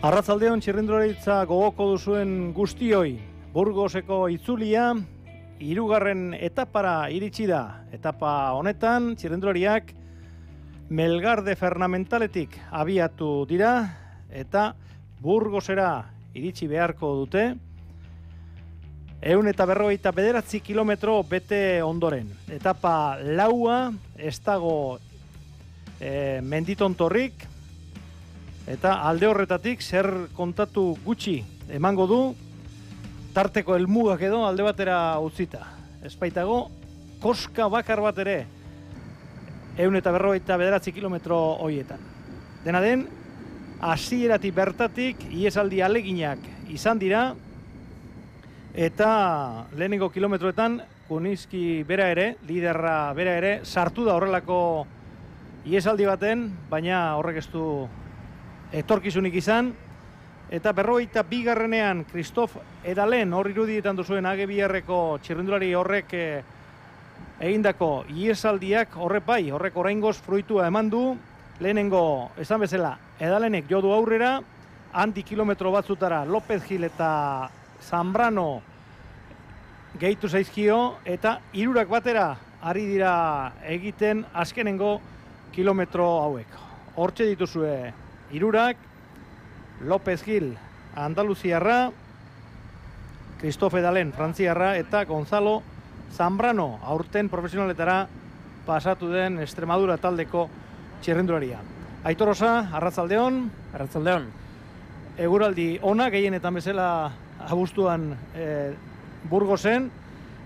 Arratzaldeon txirrindularitza gogoko duzuen guztioi, Burgoseko itzulia, 3. etapara iritsi da. Etapa honetan, txirrindulariak Melgarde Fernamentaletik abiatu dira, eta Burgosera iritsi beharko dute, 149 kilometro bete ondoren. Etapa laua, ez dago menditontorrik, eta alde horretatik zer kontatu gutxi emango du, tarteko helmugak edo alde batera utzita. Espaitago, koska bakar bat ere 149 kilometro horietan. Dena den, hasieratik bertatik iesaldi aleginak izan dira, eta lehenengo kilometroetan Kuniski bera ere, liderra bera ere, sartu da horrelako iesaldi baten, baina horrek ez du etorkizunik izan, eta 42. Kristof Edalen hor irudietan duzuen AG2-eko txirrindulari horrek egindako iesaldiak horrek oraingoz fruitua eman du. Lehenengo, esan bezala, Edalenek jodu aurrera, handi kilometro batzutara López Gil eta Zambrano gehitu zaizkio, eta 3 batera ari dira egiten azkenengo kilometro hauek. Hortxe dituzue 3, López Gil Andaluziarra, Kristof Edalen Frantziarra eta Gonzalo Zambrano aurten profesionaletara pasatu den Extremadura taldeko txirrindularia. Aitor Osa, arratzaldeon. Arratzaldeon. Eguraldi ona, gehienetan bezala abuztuan Burgosen,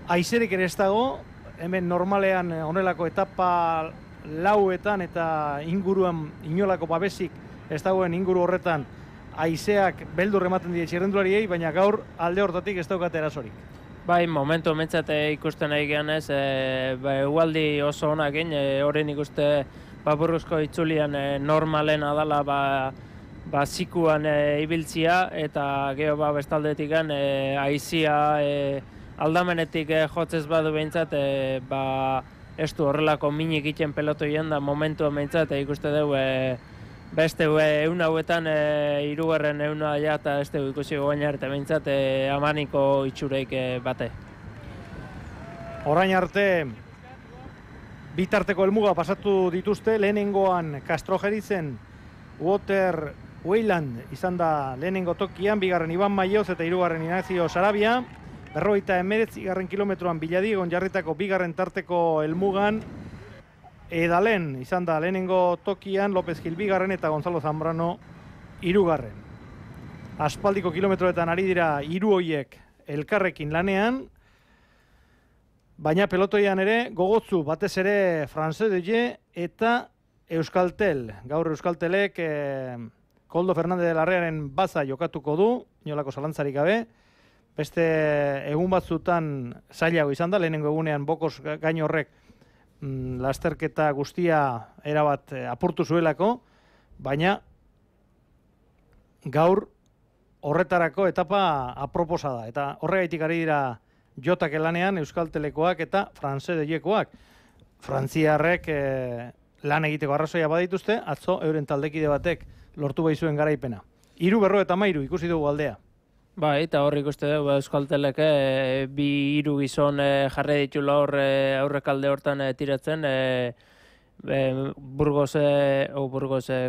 haizerik ere ez dago, hemen normalean honelako etapa lauetan eta inguruan inolako babesik ez dagoen inguru horretan haizeak beldur ematen die txirrindulariei, baina gaur alde hortatik ez daukate erasorik. Bai, momentu mentzate ikusten nahi gehan ez, egualdi oso onak egin, horren ikuste Burgosko itzulian normalen adala zikuan ibiltzia, eta geho bestaldetik haizia aldamenetik jotzez badu behintzat, ez du horrelako minik egiten pelotoien da momentua behintzat, ikuste dugu beste egun hauetan 3. eguna ja eta ez dugu ikusi gogaina arte behintzat amaniko itxureik bate. Orain arte bitarteko helmuga pasatu dituzte, lehenengoan Castrojerizen Water Wayland izan da lehenengo tokian, 2. Iban Maioz eta 3. Ignacio Sarabia, 49. kilometroan Biladigon jarritako 2. tarteko helmugan, Edalen izan da lehenengo tokian, López Gil 2. eta Gonzalo Zambrano 3. Aspaldiko kilometroetan ari dira 3 hoiek elkarrekin lanean, baina pelotoian ere gogotzu batez ere France Deye eta Euskaltel. Gaur Euskaltelek Koldo Fernández de Larrearen baza jokatuko du, inolako zalantzarik gabe. Beste egun batzutan zailago izan da, lehenengo egunean Bokos gain horrek lasterketa guztia erabat apurtu zuelako, baina gaur horretarako etapa aproposa da. Eta horregaitik ari dira jotak elanean Euskaltelekoak eta France Deyekoak. Frantziarrek lan egiteko arrazoia badituzte, atzo euren taldekide batek lortu baizuen garaipena. 3:53 ikusi dugu aldea. Bai, eta hor ikuste dugu Euskaltelek 2 gizon jarri ditula hor aurrekalde hortan tiratzen, Burgos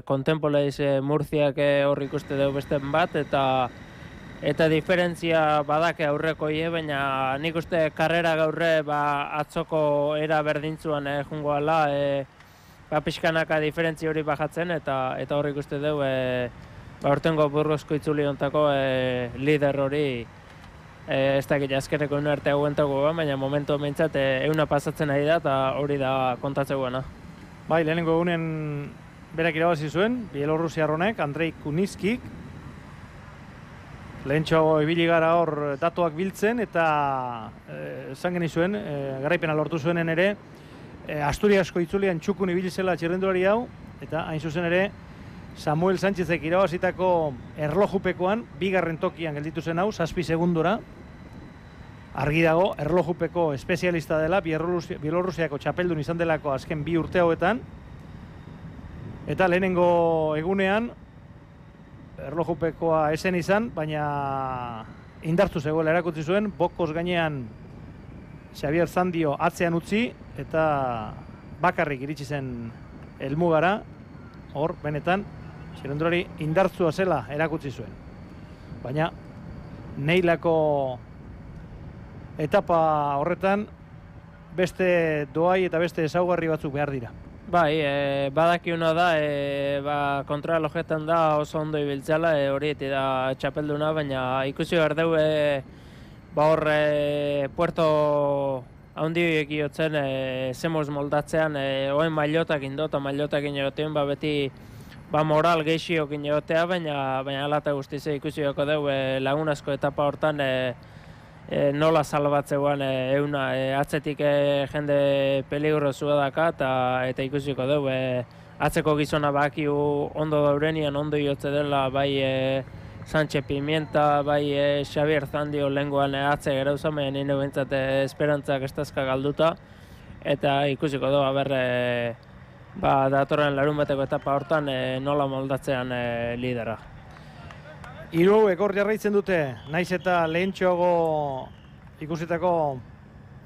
Contemporaries Murziak hor ikuste dugu beste bat, eta diferentzia badake aurreko baina nik uste karrera gaurre atzoko era berdintzuan jungoala, pixkanaka diferentzia hori bajatzen, eta hor ikuste dugu aurtengo Burgosko itzuli hontako lider hori ez dakit azkeneko egun arte hauentako, baina momentu behintzat euna pasatzen ari da, eta hori da kontatzeguena. Bai, lehenengo egunen berak irabazi zuen, Bielorrusiar honek, Andrei Kuniskik, Lehentxo ibili gara hor datuak biltzen eta esan genizuen, garaipena lortu zuenen ere, Asturiasko itzulian txukun ibili zela txirrindulari hau, eta hain zuzen ere, Samuel Sánchezek irabazitako erlojupekoan, bigarren tokian gelditu zen hau, 7 segundora. Argi dago, erlojupeko espezialista dela, Bielorrusiako txapeldun izan delako azken 2 urte hauetan. Eta lehenengo egunean, erlojupekoa esen izan, baina indartu zegoela erakutsi zuen, bokos gainean Xavier Zandio atzean utzi, eta bakarrik iritsi zen helmugara, hor, benetan, txirrindulari indartzua zela erakutsi zuen. Baina, neilako etapa horretan, beste doai eta beste ezaugarri batzuk behar dira. Bai, badakiuna da, kontralojetan da oso ondo ibiltzala, hori da txapelduna, baina ikusi behar dugu, hor Puerto haundiek iotzen zemoz moldatzean, oen mailotak indo eta mailotak inegotean, beti moral gehiago inegotea, baina alata guztiz ikusi behar dugu lagunazko etapa hortan, nola salbatzean euna atzetik jende peligrosua daka eta ikusiko dugu atzeko gizona bakiu ondo daurenian ondo iotze dela bai Sánchez Pimienta, bai Xavier Zandio lenguan atze gero zamen nire bentsat esperantzak estazka galduta eta ikusiko dugu datorren larun bateko etapa hortan nola moldatzean lidera. Hiru hauek hor jarraitzen dute, naiz eta lehentxoago ikusitako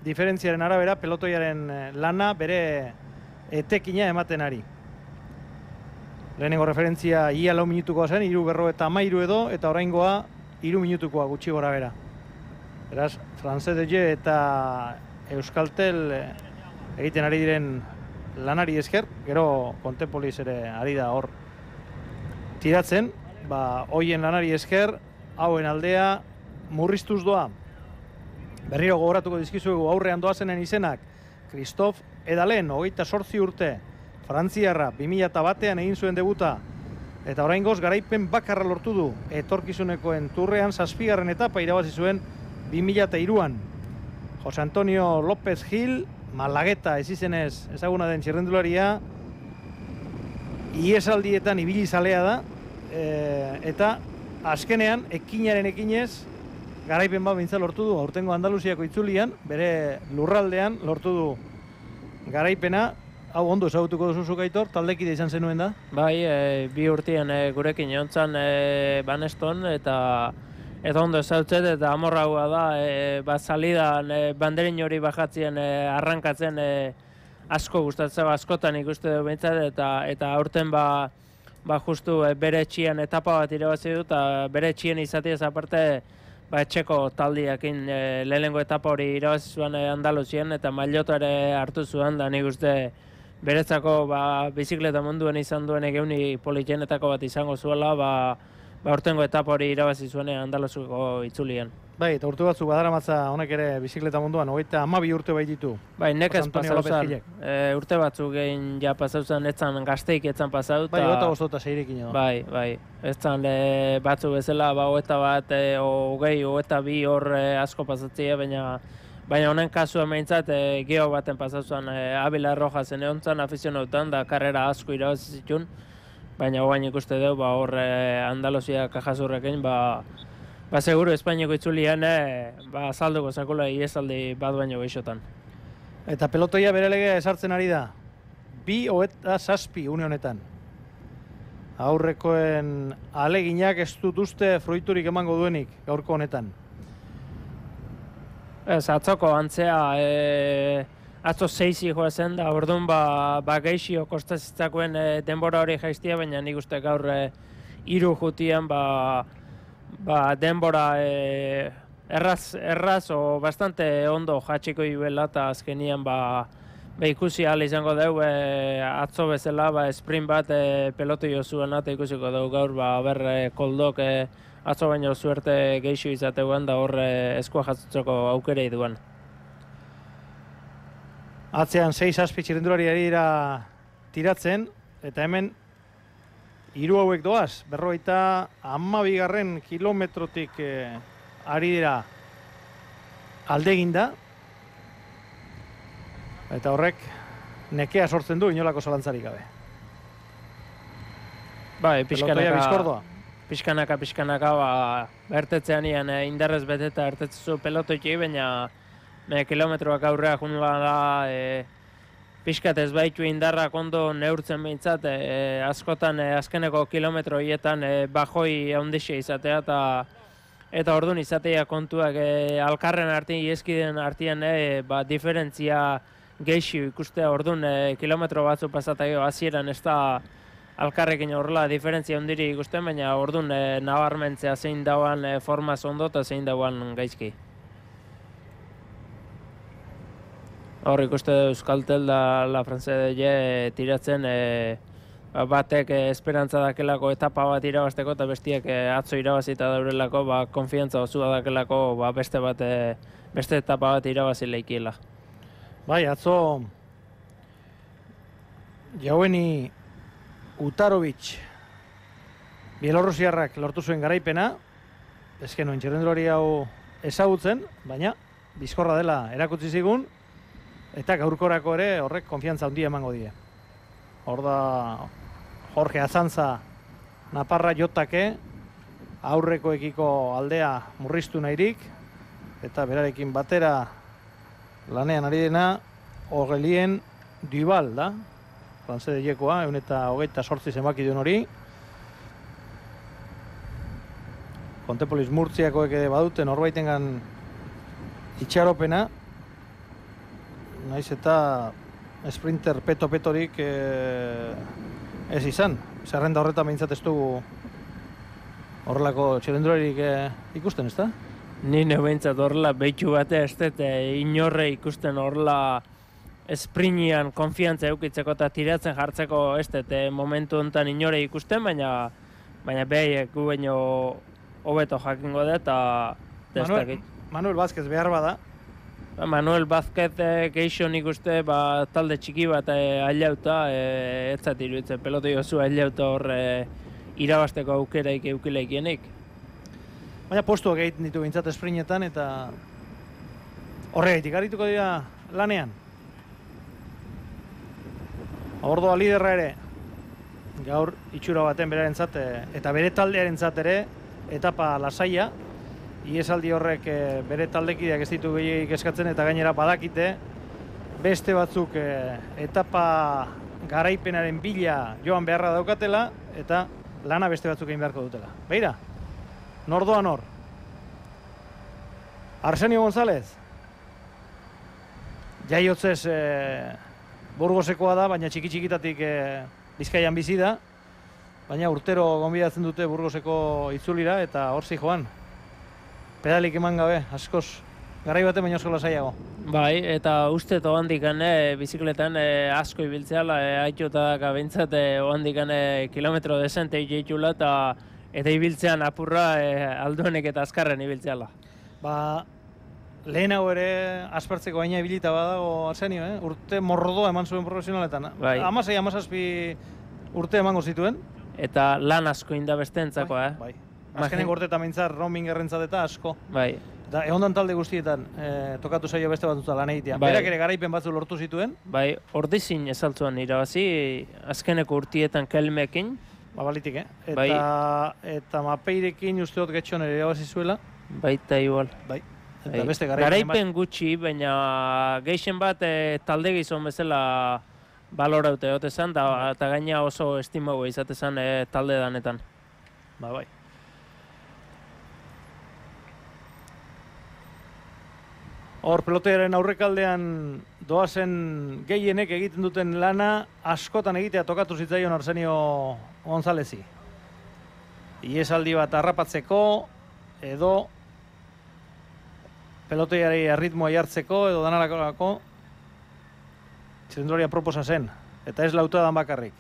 diferentziaren arabera, pelotoiaren lana bere etekina ematen ari. Lehenengo referentzia ia 4 minutukoa zen, 3:13 edo, eta oraingoa 3 minutukoa gutxi gora bera. Beraz, France DG eta Euskaltel egiten ari diren lanari esker, gero Contepolis ere ari da hor tiratzen, hoien lanari esker, hauen aldea murriztuz doa. Berriro gogoratuko dizkizuegu aurrean doazenen izenak, Christophe Edalen, 28 urte, Frantziarra, 2001an egin zuen debuta, eta oraingoz garaipen bakarra lortu du, etorkizunekoen turrean 7. etapa irabazi zuen 2003an. Jose Antonio López Gil, Malagueta ez izenez ezaguna den txirrindularia, iesaldietan ibili zalea da, eta azkenean ekinaren ekinez garaipen bat bintza lortu du aurtengo Andaluziako itzulian, bere lurraldean lortu du garaipena. Hau ondo ezagutuko duzu zuk, Aitor, taldekide izan zenuen da? Bai, 2 urtean gurekin jontzan Baneston eta ondo ezagutzen eta amorraua da salidan banderin hori bajatzien arrankatzen asko gustatzen askotan ikuste dugu behintzat eta aurten justu bere etxian etapa bat irabazi du eta bere etxian izatiez aparte etxeko taldiakin lehenengo etapa hori irabazi zuen Andaluzien eta maillota ere hartu zuen da nik uste beretzako bizikleta munduan izan duen egeuni politxenetako bat izango zuela aurtengo etapa hori irabazi zuen Andaluziko itzulian. Bai, eta urte batzuk badaramatza honek ere bizikleta munduan, 32 urte baititu. Bai, nekez pasauzan, urte batzuk egin ja pasauzan, etzan gazteik etzan pasaut. Bai, 25 edo. Bai, etzan batzuk bezala, 21, 20, 22 hor asko pasatzea, baina honen kasua meintzat geho baten pasauzan Abila Rojasen egontzan afizionautan da karrera asko irabazi zituen, baina hogain ikuste dugu hor Andaluzia kajazurrekin, seguru Espainiako itzulian salduko zakula iesaldi bat baino gehixotan. Eta pelotoia bere legea esartzen ari da. 27 une honetan. Aurrekoen aleginak ez dut uste fruiturik emango duenik gaurko honetan. Ez, atzoko antzea, atzo 6 joa zen da, orduan gehixio kostazitzakoen denbora hori jaiztia, baina nik uste gaur 3 jutian denbora erraz o bastante ondo jatxiko iuela eta azkenian ikusi ahal izango dugu atzo bezala sprint bat pelotu jo zuen eta ikusiko dugu gaur koldok atzo baino zuerte geixo izateguan da hor eskua jatzutzeko aukerei duen. Atzean 6 txirrindulari ari dira tiratzen eta hemen hiru hauek doaz, 52. kilometrotik ari dira alde eginda, eta horrek nekea sortzen du inolako zalantzarik gabe. Bai, Pelotoia bizkordoa. Pixkanaka, ertetzean indarrez beteta ertetzu pelotoiki, baina kilometroak aurrea junula da, pixkat ez baitu indarrak ondo neurtzen behintzat, askotan azkeneko kilometro hietan bajoi handixe izatea, eta orduan izatea kontuak alkarren artean, ieskideen artean diferentzia geixi ikustea, orduan kilometro batzu pasataio hasieran ez da alkarrekin horrela diferentzia ondiri ikusten, baina orduan nabarmentzea zein dauan formaz ondo eta zein dauan gaizki. Hor ikuste Euskaltel da La France de tiratzen batek esperantza dakelako etapa bat irabazteko eta bestiak atzo irabazita daurelako konfiantza osua dakelako beste etapa bat irabazi leikiela. Bai, atzo Jaueni Utarovic Bielorrusiarrak lortu zuen garaipena, ezkenuen txirrendulari hau ezagutzen, baina bizkorra dela erakutsi zigun, eta gaurkorako ere horrek konfiantza handia emango die. Hor da Jorge Azantza Naparra jotake, aurrekoekiko aldea murriztu nahirik, eta berarekin batera lanean ari dena Aurelien Duval da, France de Jekoa, 128 zenbaki duen hori. Kontepolis Murtziakoek badute norbaitengan itxaropena, naiz eta sprinter peto-petorik ez izan. Zerrenda horretan behintzat ez dugu horrelako txirrendularik ikusten, ez da? Ni behintzat horrela behitu batea ez dut inorre ikusten horrela esprinian konfiantza eukitzeko eta tiratzen jartzeko ez dut momentu honetan inore ikusten, baina behaiek gu baino hobeto jakingo da eta testakit. Manuel Vázquez behar bada. Manuel Vázquez geixo nik uste talde txiki bat ailauta, ez zat iruditzen pelotoi oso ailauta hor irabasteko aukeraik eukileikienik. Baina postuak egiten ditu bintzat esprinetan eta horregaitik arituko dira lanean. Ordoa liderra ere gaur itxura baten berarentzat eta bere taldearentzat ere etapa lasaia. Iesaldi horrek bere taldekideak ez ditu gehiagik eskatzen eta gainera badakite beste batzuk etapa garaipenaren bila joan beharra daukatela eta lana beste batzuk egin beharko dutela. Beira, nor doa nor? Arsenio González. Jaiotzez Burgosekoa da, baina txiki-txikitatik Bizkaian bizi da. Baina urtero gonbidatzen dute Burgoseko itzulira eta hor joan. Pedalik eman gabe, askoz, garai baten baino asko lasaiago. Bai, eta uste ohandikan bizikletan asko ibiltzeala, haitxotak abintzat ohandikan kilometro desente itxeitxula eta ibiltzean apurra alduenek eta azkarren ibiltzeala. Lehenago ere aspertzeko baina ibilita badago Arsenio, urte mordoa eman zuen profesionaletan. Bai. 16-17 urte emango zituen. Eta lan asko inda bestentzakoa, Bai. Azkeneko urteetan mintzat roaming errentzat eta asko. Bai. Eta egondan talde guztietan tokatu zaio beste batutza lan egitea. Bai. Berak ere garaipen batzu lortu zituen. Bai, ordizin ezaltzuan irabazi, azkeneko urtietan kelmekin. Balitik, Bai. Eta mapeirekin usteot getxon ere irabazi zuela. Baita igual. Bai. Eta Bai. beste Garaipen gutxi, baina gehien bat talde gizon bezala baloraute egote zen, eta gaina oso estimagoa izate zen talde danetan. Bai. Hor, pelotearen aurrekaldean doazen gehienek egiten duten lana askotan egitea tokatu zitzaion Arsenio Gonzálezi. Iesaldi bat harrapatzeko edo peloteari arritmoa jartzeko edo danarako txirrendularia proposa zen. Eta ez lautadan bakarrik.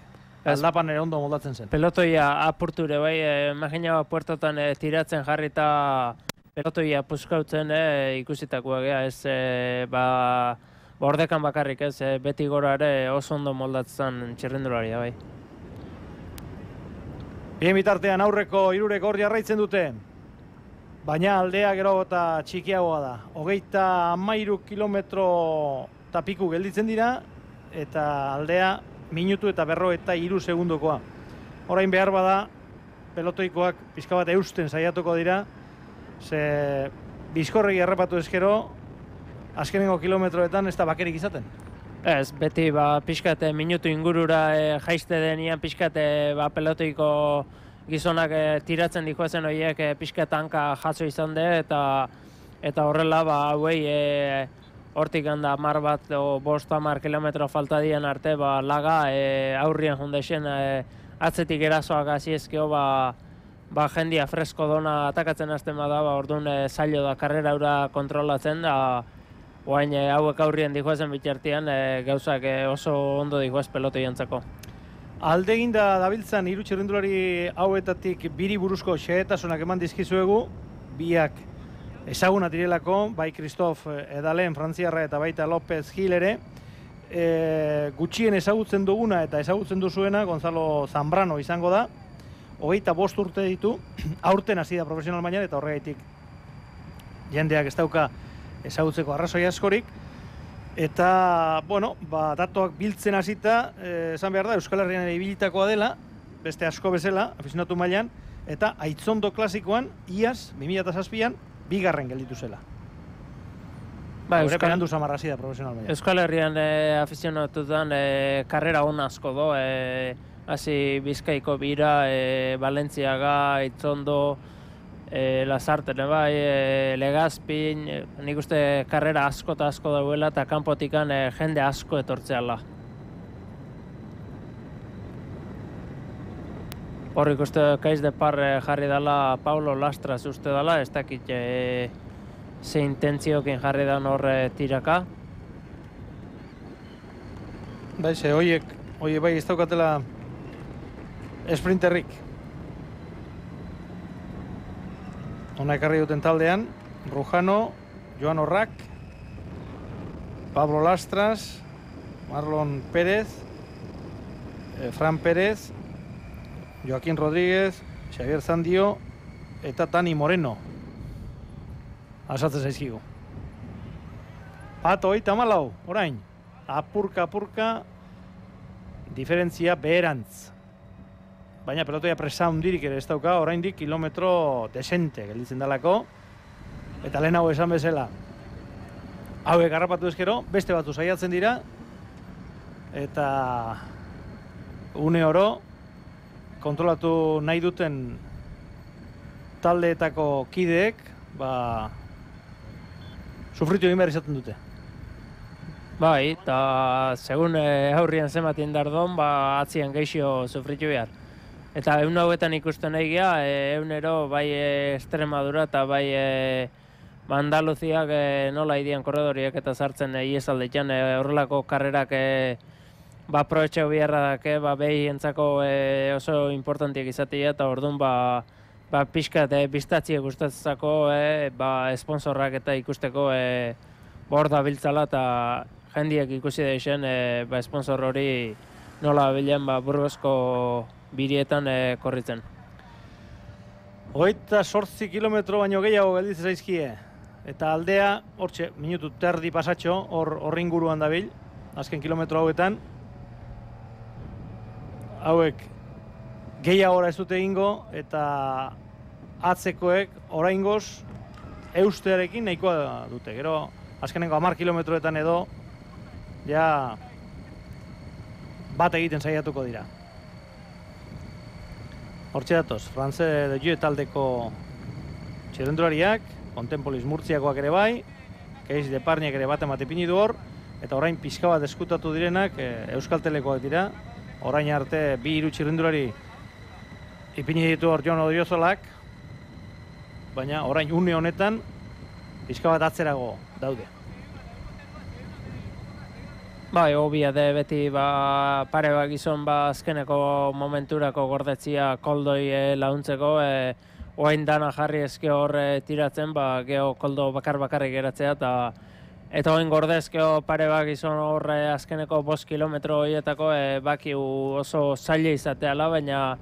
Aldapan ere ondo moldatzen zen. Pelotoia apurture bai, imagina puertotan tiratzen jarrita pelotoia puskautzen ikusitakoa gea, ez ordekan bakarrik ez, beti gora ere oso ondo moldatzen txirrendularia bai. Bien bitartean aurreko hirurek hor jarraitzen dute. Baina aldea gero eta txikiagoa da. 33 kilometro eta piku gelditzen dira, eta aldea minutu eta 43 segundokoa. Orain behar bada, pelotoikoak pixka bat eusten saiatuko dira, ze bizkorregi errepatu ezkero, azkenengo kilometroetan ez da bakerik izaten. Ez, beti pixkate minutu ingurura jaiste denian pixkate pelotoiko gizonak tiratzen dikoezen horiek pixkat hanka jaso izan de, eta horrela hauei hortik handa 10 bat o 5-10 kilometro falta dien arte laga aurrien jundexen atzetik erasoak hasi ezkeo jendia fresko dona atakatzen hasten bada, orduan zailo da karrera ura kontrolatzen da. Oain hauek aurrien dijoezen bitartean gauzak oso ondo dijoez pelotoi jantzako. Aldegin da dabiltzan hiru txirrindulari hauetatik biri buruzko xehetasunak eman dizkizuegu, biak ezaguna direlako, bai Christophe Edalen frantziarra eta baita López Gil ere. Gutxien ezagutzen duguna eta ezagutzen duzuena Gonzalo Zambrano izango da. 25 urte ditu, aurten hasi da profesional mailan eta horregaitik jendeak ez dauka ezagutzeko arrazoi askorik. Eta, datuak biltzen hasita, esan behar da, Euskal Herrian ere ibilitakoa dela, beste asko bezala, afizionatu mailan, eta Aitzondo klasikoan, iaz, 2007an, 2. gelditu zela. Euskal Herrian samarrasi da profesional mailan. Euskal Herrian afizionatutan karrera on asko do, hasi Bizkaiko bira, Valentziaga, Aitzondo, Lasarten Legazpin, nik uste karrera asko eta asko dauela eta kanpotikan jende asko etortzeala. Hor ikuste Kaiz de Par jarri dela Paulo Lastras uste dela, ez dakit ze intentziokin jarri dan hor tiraka. Baize, horiek bai ez daukatela esprinterrik. Hona ekarri duten taldean, Rujano, Joan Orrak, Pablo Lastras, Marlon Pérez, Fran Pérez, Joaquín Rodríguez, Xavier Zandio eta Tani Moreno. Asatzen zaizkigu. Pato, 34, orain. Apurka, diferentzia beherantz. Baina pelotoia presa hundirik ere ez dauka, oraindik kilometro desente gelditzen dalako. Eta lehen hau esan bezala, hauek harrapatu ezkero, beste batu saiatzen dira. Eta une oro, kontrolatu nahi duten taldeetako kideek, sufritu egin behar izaten dute. Bai, eta segun aurrian zenbatien dardon, atzian geixio sufritu behar. Eta egun hauetan ikusten nahi geha, egunero bai Extremadura eta bai Andaluziak nola idian korredoriak eta sartzen iezaldetan horrelako karrerak aprobetxeu biharra dake, behi entzako oso importantiak izatea eta orduan pixkat biztatziek gustatzeko esponsorrak eta ikusteko hor da biltzala eta jendiak ikusi deixen esponsor hori nola bilen Burgosko birietan korritzen. 28 kilometro baino gehiago gelditzen zaizkie. Eta aldea, hortxe, minutu terdi pasatxo, hor inguruan dabil, azken kilometro hauetan. Hauek gehiagora ez dute egingo, eta atzekoek oraingoz eustearekin nahikoa dute. Gero, azkenengo 10 kilometroetan edo, ja bat egiten saiatuko dira. Hortxe datoz, France de Jue taldeko txirrendulariak, Contempolis Murtziakoak ere bai, Keiz de Parniak ere bat ipini du hor, eta orain pixka bat eskutatu direnak Euskaltelekoak dira. Orain arte 2-3 txirrendulari ipini ditu hor Jon Odriozolak, baina orain une honetan pixka bat atzerago daude. Bai, hobia de beti pare bat gizon azkeneko momenturako gordetzia koldoi launtzeko, oain dana jarri ezke hor tiratzen, geho koldo bakarrik geratzea, eta oain gordezkeo pare bat gizon hor azkeneko 5 kilometro horietako bakiu oso zaila izateala, baina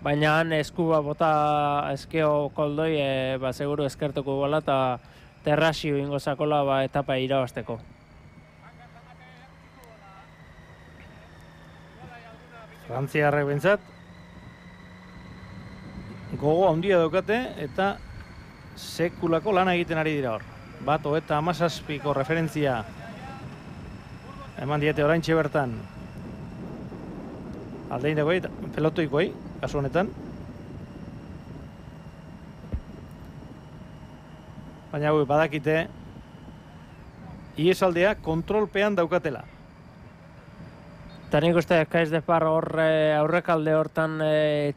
baina han eskuba bota eskeo koldoi, seguru eskertuko gola eta terrasio ingo zakola etapa irabazteko. Frantziarrek bentsat, gogo handia daukate eta sekulako lana egiten ari dira hor. Bat, 37ko referentzia eman diete oraintxe bertan aldeindakoi, pelotoikoi, kasu honetan. Baina badakite iesaldea kontrolpean daukatela. Eta nik uste Kaiz de Par aurrekalde hortan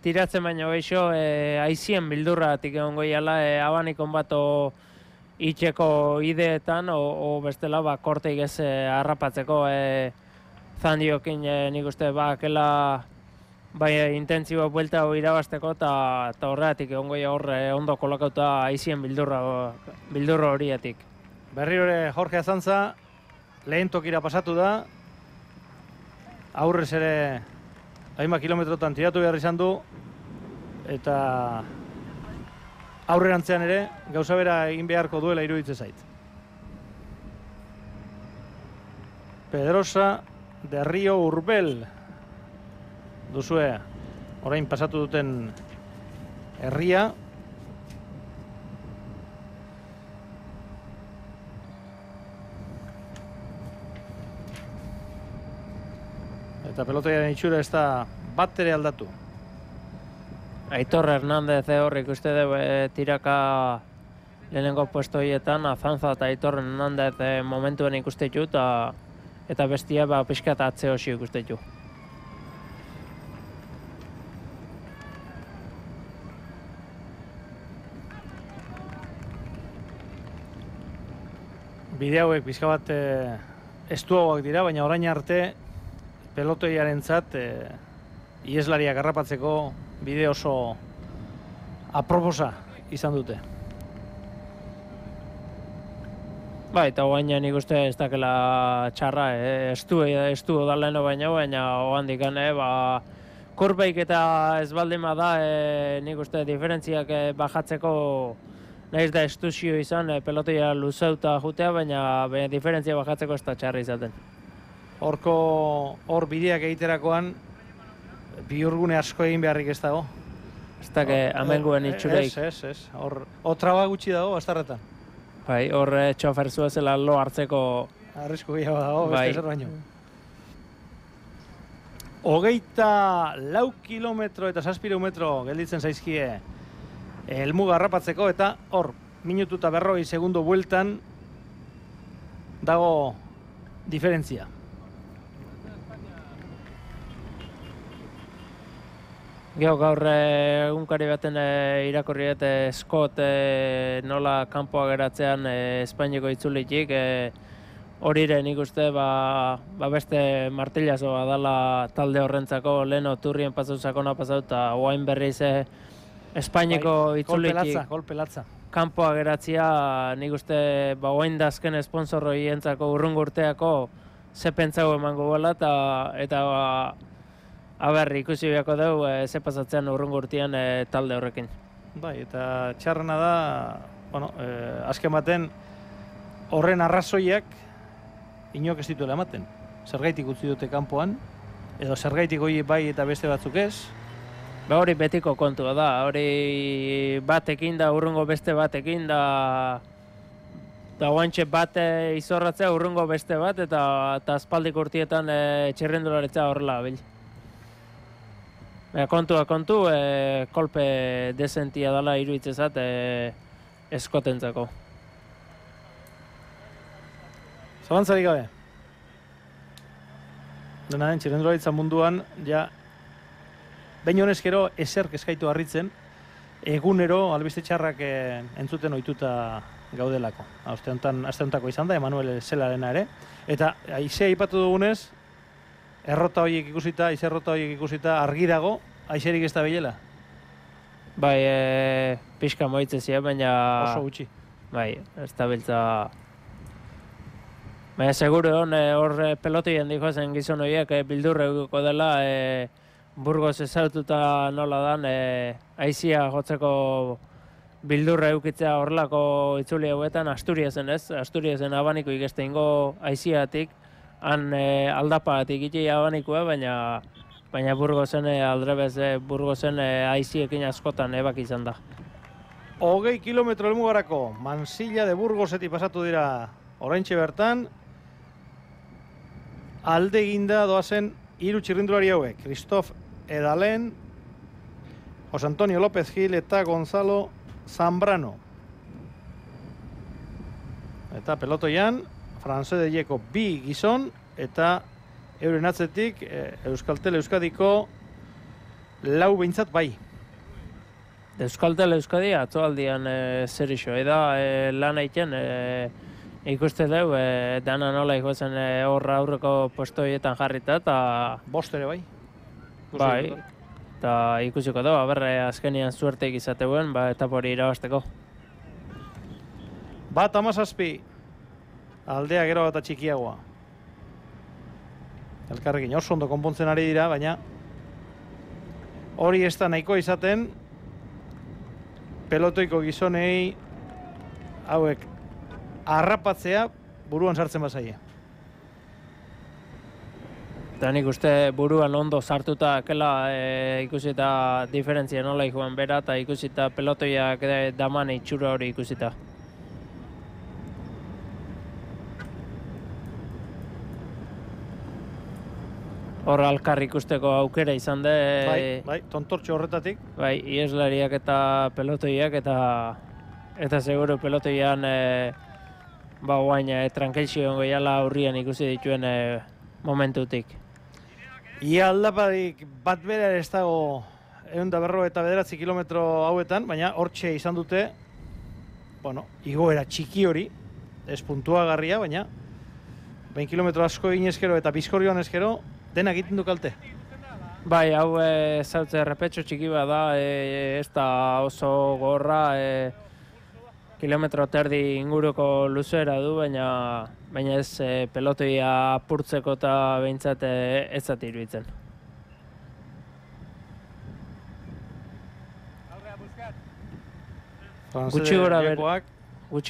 tiratzen baino beixo aizien bildurratik egon goiala abanikon bato itxeko ideetan o bestela korteik ez harrapatzeko Zandiokin nik uste akela intentsibo buelta irabazteko eta horregatik egon goia hor ondo kolokauta aizien bildurra horietik. Berriro ere Jorge Azantza lehen tokira pasatu da. Aurrez ere hainbat kilometrotan tiratu behar izan du eta aurrerantzean ere gauza bera egin beharko duela iruditzen zait. Pedrosa de Río Urbel duzue orain pasatu duten herria. Eta pelotaiaren itxura ez da bat ere aldatu. Aitor Hernández hor ikuste dugu tiraka lehenengo puesto horietan, Azantza eta Aitor Hernández momentuen ikuste du eta bestia pixka eta atze hosio ikuste du. Bide hauek pixka bat estuagoak dira, baina orain arte pelotoiarentzat ieslariak harrapatzeko bide oso aproposa izan dute. Eta oain nik uste ez dakela txarra, estu odaleno baina oandik kurbeik eta ez baldin da nik uste diferentziak bajatzeko nahiz da estuzio izan pelotoia luzauta jutea, baina diferentzia bajatzeko ez da txarra izaten. Hor bideak egiterakoan bihurgune asko egin beharrik ez dago. Ez da amenguen itxureik. Ez. Hor traba gutxi dago bastarretan. Hor txofer zuezela lo hartzeko arrisku gehiago dago, beste zer baino. 24 kilometro eta 7 metro gelditzen zaizkie helmuga harrapatzeko eta hor minutu eta 40 segundo bueltan dago diferentzia. Gero gaur egunkari baten irakurri eta Scott nola kanpoa geratzean Espainiako itzulitik horire nik uste beste martillazo dala talde horrentzako leheno turrien pasau sakona pasau eta oain berriz Espainiako itzulitik kolpelatza. Kanpoa geratzea nik uste oain dazken sponsor horientzako urrungo urteako ze pentsau emango gola eta ikusi beharko dugu ze pasatzean urrungo urtean talde horrekin. Eta txarrena da, azken baten horren arrazoiak inok ez dituela ematen. Zergaitik utzi dute kanpoan, edo zergaitik hori bai eta beste batzuk ez. Hori betiko kontua da, hori batekin da, urrungo beste batekin da guantxe bat izorratzea urrungo beste bat eta aspaldik urtietan txirrendularitza horrela bil. Kontua kontu, kolpe desentia dela iruditzezat eskotentzako. Zalantzarik gabe. Dena den, txirrendularitza munduan, behin honezkero ezer eskaitu harritzen, egunero albiste txarrak entzuten ohituta gaudelako. Aste hontako izan da, Emanuel Zelarena ere. Eta aizea ipatu dugunez, errota horiek ikusita, argi dago, aixerik ez da bilela? Pixka moitzezia, baina... Oso gutxi. Ez da biltza... Baina seguro hor pelotien dikozen gizon horiek bildurre eguko dela Burgos ezaututa nola dan, aizia jotzeko bildurra eukitzea horrelako itzuli hauetan Asturiasen ez, Asturiasen abaniko ikeste ingo aiziatik, han aldapagatik iti abanikoa, baina Burgosen aldrebez, Burgosen aiziekin askotan ebak izan da. 20 kilometro helmugarako Mansilla de Burgosetik pasatu dira oraintxe bertan, alde eginda doazen 3 txirrindulari hauek, Christophe Edalen, José Antonio López Gil eta Gonzalo Zambrano. Eta pelotoian, Franse de Jeko 2 gizon, eta euren atzetik Euskaltel Euskadiko 4 behintzat bai. Euskaltel Euskadi atzoaldian zer iso, da lan egiten ikuste dugu, dana nola ikusten horra aurreko postoietan jarrita, eta... Bost ere bai? Bai, eta ikusiko dugu, azkenian zuerteik izateuen, etapa hori irabazteko. Bat 17, aldea gero eta txikiagoa. Elkarrekin oso ondo konpontzen ari dira, baina hori ez da nahiko izaten pelotoiko gizonei hauek harrapatzea buruan sartzen bazaie. Eta nik uste buruan ondo sartuta kela ikusita diferentzia nola joan bera, eta ikusita pelotoiak daman itxura hori ikusita. Hor alkar ikusteko aukera izan da. Bai, tontortxo horretatik. Bai, ieslariak eta pelotoiak, eta seguro pelotoian guain trankelxio goiala aurrian ikusi dituen momentutik. Ia aldaparik bat bera ez dago 159 kilometro hauetan, baina hortxe izan dute, igoera txiki hori, ez puntuagarria, baina 20 kilometro asko inezkero eta bizkorrioan ezkero, denak egiten du kalte. Bai, hau zautze errepetxo txiki bat da, ez da oso gorra, kilometro terdi inguruko luzeera du, baina ez pelotoia apurtzeko eta behintzat ez zat iruditzen. Gutxi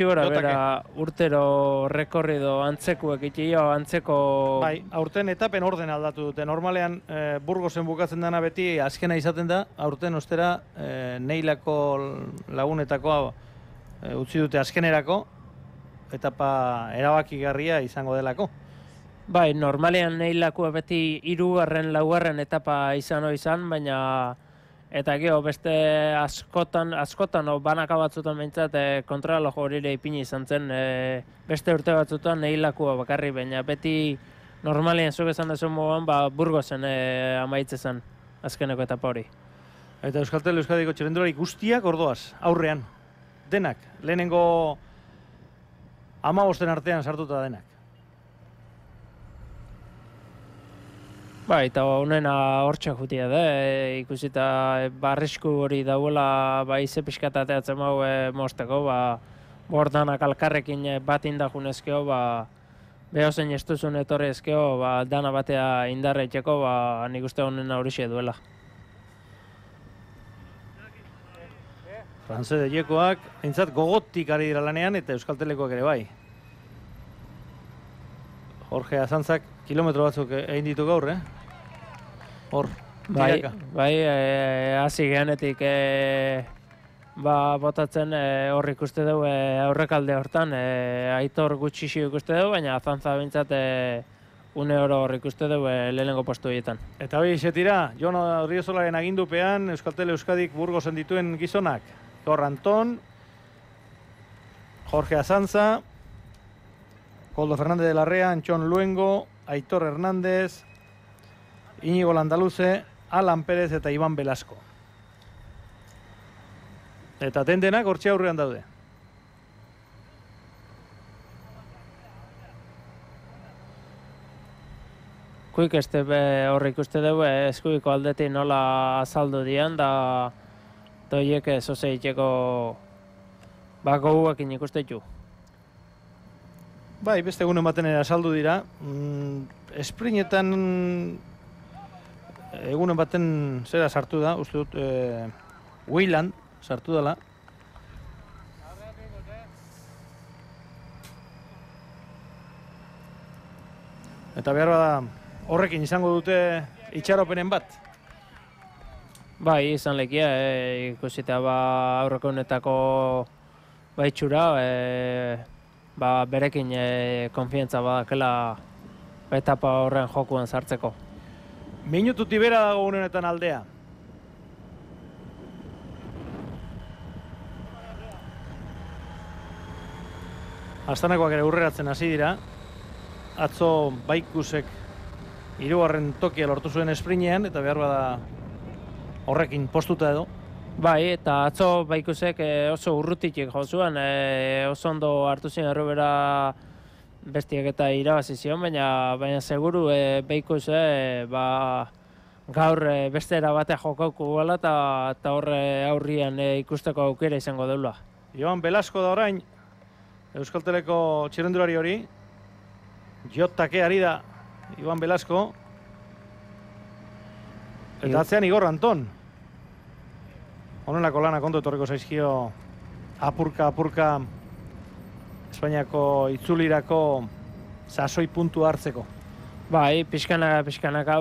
gora bera urtero rekorrido antzekuek itio, antzeko... Bai, aurten etapen orden aldatu dute. Normalean Burgosen bukatzen dena beti azkena izaten da, aurten ostera Neilako lagunetako utzi dute azkenerako, etapa erabakigarria izango delako. Bai, normalean Neilako beti 3., 4. etapa izan, baina eta gero beste askotan banaka batzutan behintzat kontrarreloj horire ipini izan zen, beste urte batzutan Neilako bakarri, baina beti normalean zuk esan dezun moduan Burgosen amaitze zen azkeneko etapa hori. Eta Euskaltel Euskadiko txirrindulari guztiak ordoaz, aurrean. Denak, lehenengo 15 artean sartuta denak. Bai, eta honena hortxak jutia da, ikusita arrisku hori dauela ize pixkat ateatzen hau mozteko, bordanak alkarrekin bat indajunezkeo, behozen estuzun etorrezkeo, dana batea indarreiteko, nik uste honena horixe duela. Franse de Jekoak, eintzat gogotik ari dira lanean, eta Euskaltelekoak ere bai. Jorge Azantzak kilometro batzuk egin ditu gaur, Hor, tiraka. Bai, hasi genetik botatzen hor ikuste dugu aurrekalde hortan, Aitor gutxixi ikuste dugu, baina Azantza bintzat une oro hor ikuste dugu lehenengo postu horietan. Eta hori izetira, Jon Riozolaren agindupean Euskaltel Euskadik Burgosen dituen gizonak. Tor Anton, Jorge Azantza, Koldo Fernández de Larrea, Antxon Luengo, Aitor Hernández, Íñigo Landaluze, Alan Pérez eta Iban Velasco. Eta tendenak hortxe aurrean daude. Kuik este horri ikuste dugu, eskuiko aldetik nola azaldu dian, da doiek zoze itxeko goguekin ikuste ditu. Bai, beste egunen baten azaldu dira. Esprinetan egunen baten zera sartu da, uste dut, Wayland sartu dela. Eta behar bada horrekin izango dute itxaropenen bat. Bai, izan lekia, ikusita aurreko honetako baitxura, berekin konfiantza badakela etapa horren jokuan sartzeko. Minututik bera dago honetan aldea. Astanakoak ere urreratzen hasi dira. Atzo Baikusek 3. tokia lortu zuen esprinean, eta behar bada horrekin postuta edo. Bai, eta atzo Baikusek oso urrutitik jo zuen, oso ondo hartu zen errubera bestiak eta irabazi zion, baina seguru Baikus gaur beste era batea jokauko gala eta horre aurrian ikusteko aukera izango deula. Joan Velasco da orain, Euskalteleko txirrendulari hori. Jotake ari da Joan Velasco. Eta atzean Igor Anton. Honelako lanak ondo etorriko zaizkio apurka Espainiako itzulirako sasoi puntu hartzeko. Bai, pixkanaka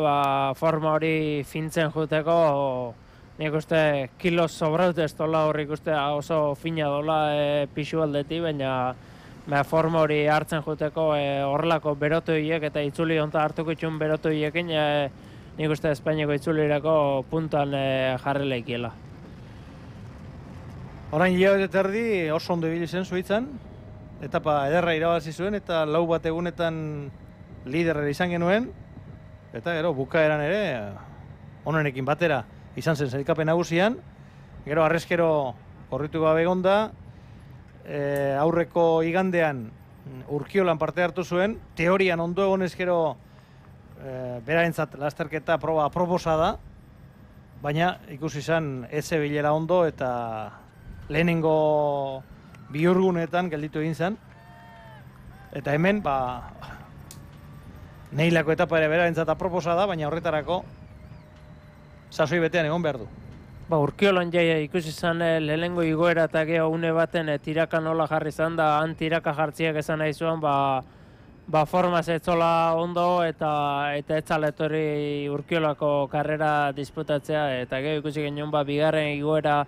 forma hori fintzen juteko, nik uste kilos sobraut ez dola horrik uste oso fina dola pixu aldeti, baina forma hori hartzen juteko horrelako berotoiek eta itzuli onta hartuko itxun berotoiekin nik uste Espainiako itzulirako puntuan jarri leikiela. Orain hilabete terdi oso ondo ibili zen Suitzan, etapa ederra irabazi zuen eta 4 bat egunetan liderrera izan genuen, eta gero bukaeran ere honenekin batera izan zen sailkapen nagusian, gero arrezkero korritu gabe egonda, aurreko igandean Urkiolan parte hartu zuen, teorian ondo egonez gero berarentzat lasterketa proba aproposa da, baina ikusi izan ez zebilela ondo eta lehenengo bihurgunetan gelditu egin zen. Eta hemen, neilako etapa ere berarentzat aproposa da, baina horretarako sasoi betean egon behar du. Urkiolan jaia ikusi izan lehenengo igoera eta geho une baten tiraka nola jarri izan da, han tiraka jartziak esan nahi zuen, formaz etzola ondo eta etzala etorri Urkiolako karrera disputatzea, eta geho ikusi genuen bigarren igoera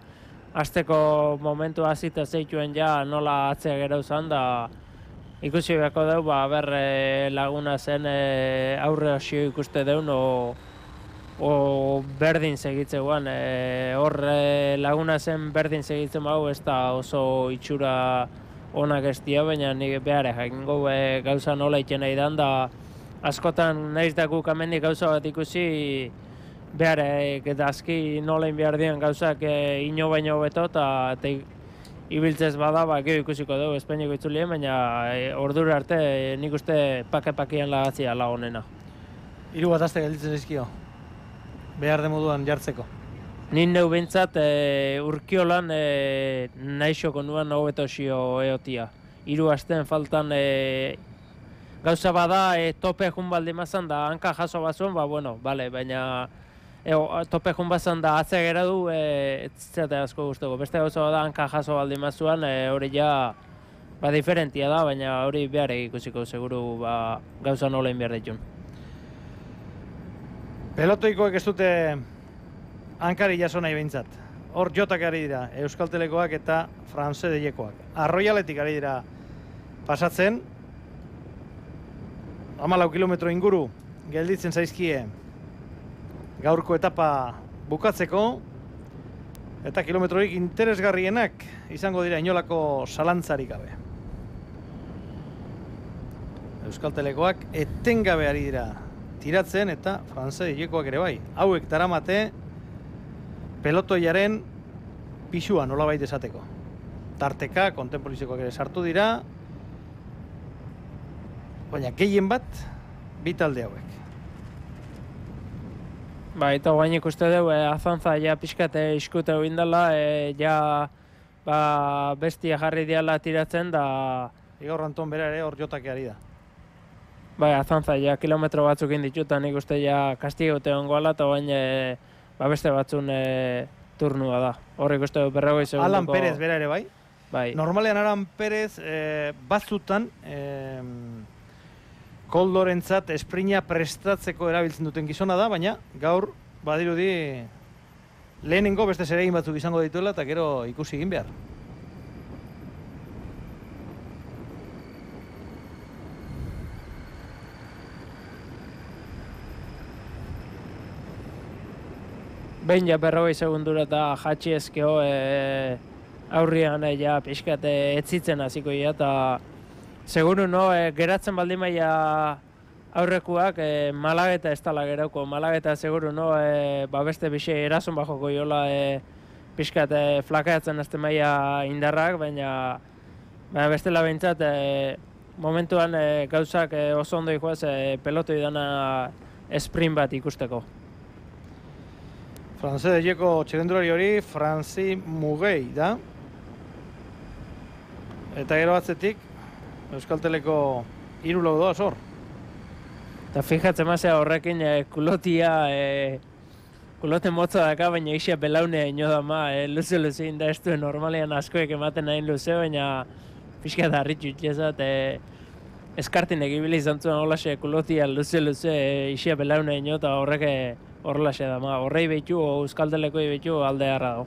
azteko momentu hasita zeituen ja nola atzea gero zan da ikusi beharko dugu, laguna zen aurre hasio ikuste deun o berdin segitzeguan. Hor laguna zen berdin segitzen bau, ez da oso itxura onak ez dia, baina nik behar jakingo gauza nola iten nahi dan, da askotan nahiz da guk amendik gauza bat ikusi behar edazki nolein behar dian gauzak ino baino beto eta ibiltzez bada, gero ikusiko dugu Espainiako itzulien, baina ordura arte nik uste pake-pakean lagatzia la honena. 3 bat aste gelditzen zaizkio, behar de moduan jartzeko. Nin neu bintzat Urkiolan naixoko nuan hobeto xio eotia. 3 astean faltan gauza bada tope jun baldi mazan da hanka jaso bazuen, baina tope jun bazan da atze gera du, zate asko guztoko. Beste gauza bada hanka jaso baldi mazuan, hori ja diferentia da, baina hori behar ikusiko seguru gauza nola behar ditun. Pelotoikoek ez dute hankari jaso nahi behintzat. Hor jotak ari dira, Euskaltelekoak eta Franse Deiekoak. Arroialetik ari dira pasatzen. 14 kilometro inguru gelditzen zaizkie gaurko etapa bukatzeko. Eta kilometrorik interesgarrienak izango dira inolako zalantzarik gabe. Euskaltelekoak etengabe ari dira tiratzen eta Franse Deiekoak ere bai. Hauek daramate pelotoiaren pisua nolabait esateko. Tarteka, kontempolizikoak ere sartu dira, baina gehien bat, bi talde hauek. Eta guain ikuste dugu, azantza ja pixkat iskute indala, bestia jarri diala tiratzen da... Igor Anton bera ere hor jotak ari da. Bai, Azanza ja kilometro batzuk inditu, eta nik uste ja kastigote ongoala, eta bain beste batzun turnua da. Horrik uste berrogei segunduko... Alan Perez bera ere bai? Bai. Normalean Alan Perez batzutan koldorentzat esprina prestatzeko erabiltzen duten gizona da, baina gaur badirudi lehenengo beste zeregin batzuk izango dituela eta gero ikusi egin behar. Behin ja berrogei segundura eta jatxi ezkeo aurrian ja pixkat etzitzen hasiko ia, eta seguru geratzen baldin maia aurrekuak Malageta ez tala gerauko. Malageta seguru beste bixe erason bajoko jola pixkat flakatzen azte maia indarrak, baina bestela behintzat momentuan gauzak oso ondo ikoaz pelotoi dana sprint bat ikusteko. Franceseko txirrindulari hori Franci Mugei da. Eta gero atzetik Euskalteleko 3 lau doaz hor. Eta fijatzen mazea horrekin kulotia, kulote motza daka, baina isia belaunea ino dama, luze inda ez duen normalean askoek ematen nahin luze, baina pixka da harritxu itxezat, eskartin egibili izan zuen horlaxe kulotia luze isia belaunea ino, eta horrek horrelaxe dama, horrei behitu, Euskalteleko behitu alde harra dago.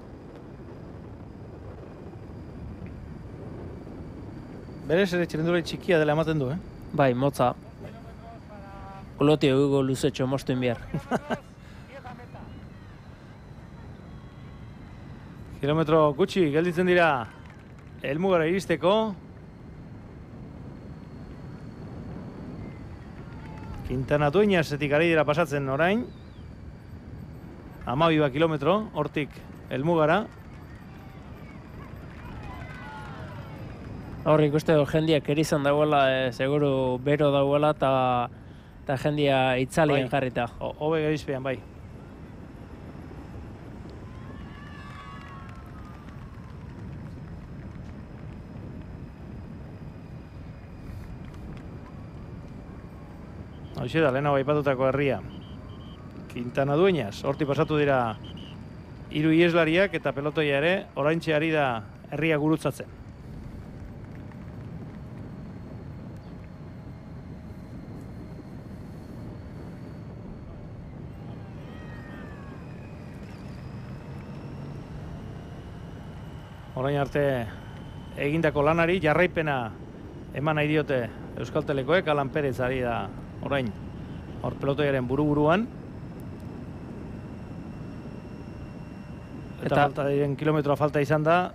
Berez ere txirrindulari txikia dela ematen du, Bai, motza. Kulotia egugo luzetxo mostuin behar. Kilometro gutxi gelditzen dira helmugara iristeko. Quintana Dueñasetik ari dira pasatzen orain. 12 kilometro, hortik helmugara. Hor ikuste du jendiak erizan dagoela, seguru bero dagoela, eta jendia itzalien jarrita. Hobe gerizpean, bai. Hoxe da, lehenago aipatutako herria. Quintana Dueñas, horti pasatu dira 3 ieslariak eta pelotoia ere, oraintxe ari da herria gurutzatzen. Orain arte egindako lanari jarraipena eman nahi diote Euskaltelekoek, Alan Perez ari da orain hor pelotoiaren buru-buruan. Eta falta diren kilometroa falta izan da,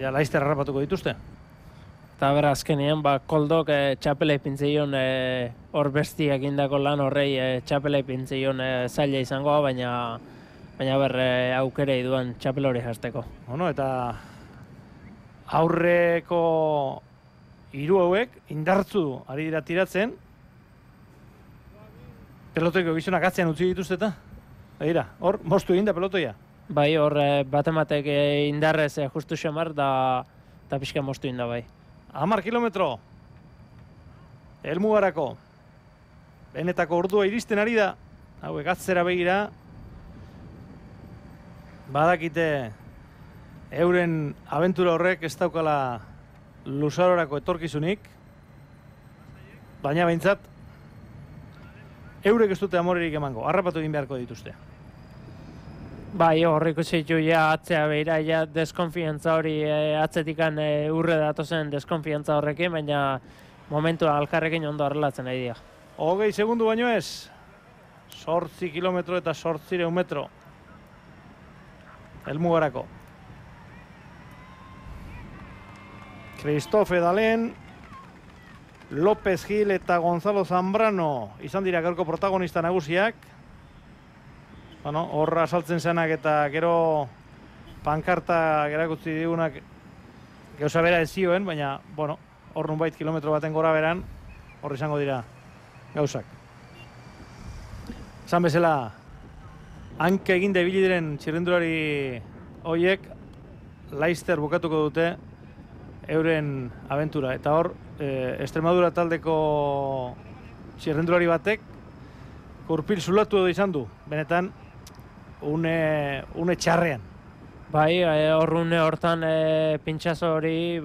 ja laizter harrapatuko dituzte. Eta bera azkenean, koldok txapela ipintzeion hor bestiak indako lan horrei txapela ipintzeion zaila izangoa, baina aukerei duan txapel hori jazteko. Bueno, eta aurreko 3 hauek indartzu ari dira tiratzen. Pelotoiko gizonak atzean utzi dituzte eta? Begira, hor, mostu egin da pelotoia. Bai, hor batematek indarrez justu xamar eta pixka mostu inda bai. 10 kilometro. Helmugarako. Benetako ordua iristen ari da. Hauek atzera begira. Badakite euren abentura horrek ez daukala luzarorako etorkizunik. Baina behintzat, eurek ez dute amorerik emango. Harrapatu egin beharko dituzte. Bai, horriko zeitu ja atzea behira, ja deskonfiantza hori atzetikan urre datozen deskonfiantza horrekin, baina momentua alkarrekin ondo arrelatzen nahi dira. 20 segundu baino ez. 8 kilometro eta 800 metro. Helmugarako. Christophe Dalen, López Gil eta Gonzalo Zambrano izan dira gaurko protagonista nagusiak. Bueno, horra saltzen zenak eta gero pankarta gerakutzi digunak gauza bera ez zioen, baina, bueno, hor nunbait kilometro baten gora beran, hor izango dira gauzak. Esan bezala, hanka egin ibili diren txirrindulari horiek, laizter bukatuko dute euren abentura. Eta hor, Extremadura taldeko txirrendulari batek gurpil zulatu edo izan du, benetan une txarrean. Bai, horrune hortan pintxazo hori,